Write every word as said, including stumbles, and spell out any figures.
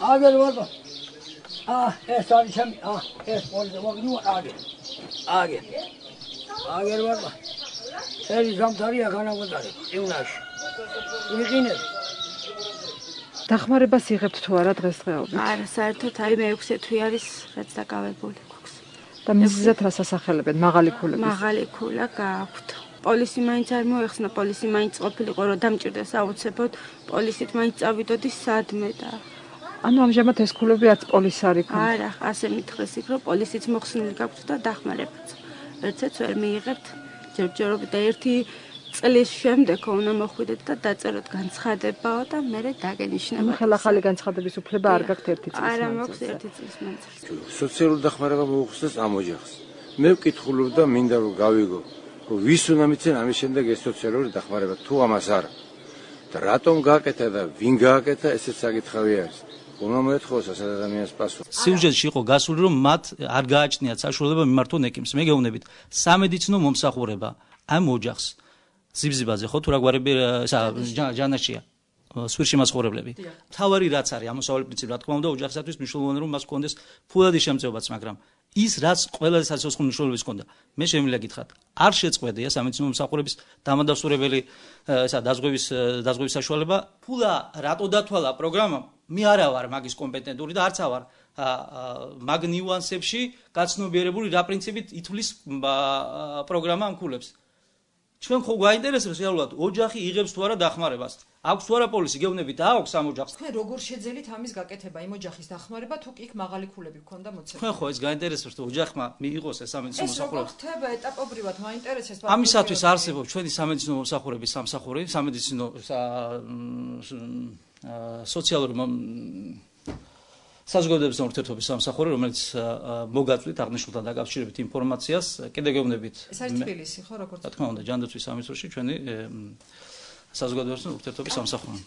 Agel var bak. Ah, es sadece ah, es polise bak nu agel. Agel. Agel var bak. Eri zamtari yakana vudari. Iunash. Iqine. დახმარებას იღებთ თუ არა დღესდღეობით? არა, საერთოდ აი მეექვსე თვე არის რაც დაკავებული გვაქვს. და მიზეზად რას ასახელებენ? მაღალი ქულების. მაღალი ქულა გააქვთ. პოლისი მაინც არ მოეხსნა, პოლისი მაინც ყოფილიყო რომ დამჭირდეს აუცილებლად, პოლისით მაინც წავიდოდი სადმე და ანუ ამჟამად ეს ქულები არც პოლისი არ იქნება. არა, ასე მითხრეს იქ რომ პოლისით მოხსნილი გაქვთ და დახმარებაც. ერთიც ვერ მიიღებთ ჯერჯერობით და ერთი წლის შემდეგ უნდა მოხვიდეთ და დაწეროთ განცხადებაო და მერე დაგენიშნებათ. ხელახალი განცხადების უფლება არ გაქვთ ერთი წლის მანძილზე. არა, მაქვს ერთი წლის მანძილზე. სოციალური დახმარება მოუხსნეს ამ ოჯახს. მე ვკითხულობ და მინდა რომ გავიგო, რომ ვის უნდა მიცენ ამის შემდეგ ეს სოციალური დახმარება, თუ ამას არა. და რატომ გააკეთა და ვინ გააკეთა, ესეც საკითხავი არის. უნდა მოეთხოვოს ასეთ ადამიანს პასუხი. სიუჟეტში იყო გასული რომ მათ არ გააჩნიათ საშუალება მიმართონ ეკიმს. მე გეუბნებით, სამედიცინო მომსახურება ამ ოჯახს ზიბზიბაზე ხო თუ რაგვარები ესა ჯანაშია სვირში მაცხოვრებლები. თავარი რაც არის ამოსავალი პრინციპი რა თქმა უნდა ოჯახისათვის მნიშვნელოვანია რომ მას ჰქონდეს ფულადი შემწეობაც, მაგრამ ის რაც ყველაზე სასიცოცხლო მნიშვნელობის ჰქონდა. მე შემიძლია გითხრათ, არ შეწყვეტია სამედიცინო მომსახურების დამადასტურებელი ესა დაზღვევის დაზღვევის საშუალება. ფულა რატო დათვალა პროგრამამ? მე არა ვარ მაგის კომპეტენტური და არც ავარ მაგ ნიუანსებში გაცნობიერებული რა პრინციპით ითვლის პროგრამა ამ ქულებს. ჩვენ ხო გვაინტერესებს რეალურად ოჯახი იღებს თუ არა დახმარებას. აქვს თუ არა პოლისი გეუბნებით აქვს ამ ოჯახს. თქვენ როგორ შეძელით ამის გაკეთება იმ ოჯახის დახმარება თუ კი იქ მაღალი ქულები გქონდა მოცემული? თქვენ ხო ეს გაინტერესებს რომ ოჯახმა მიიღოს ეს სამედიცინო მომსახურება. ეს როგორ ხდება ეტაპობრივად მაინტერესებს? ამისათვის არსებობს ჩვენი სამედიცინო მომსახურების სამსახური, სამედიცინო სოციალური საზოგადოებრივი ურთიერთობის სამსახური, რომელიც მოგაწვით აღნიშნულთან დაკავშირებით ინფორმაციას, კიდე გეუბნებით. ეს არის თბილისი, ხო, როგორც? რა თქმა უნდა, ჯანდაცვის სამინისტროში ჩვენი საზოგადოებრივი ურთიერთობის სამსახური.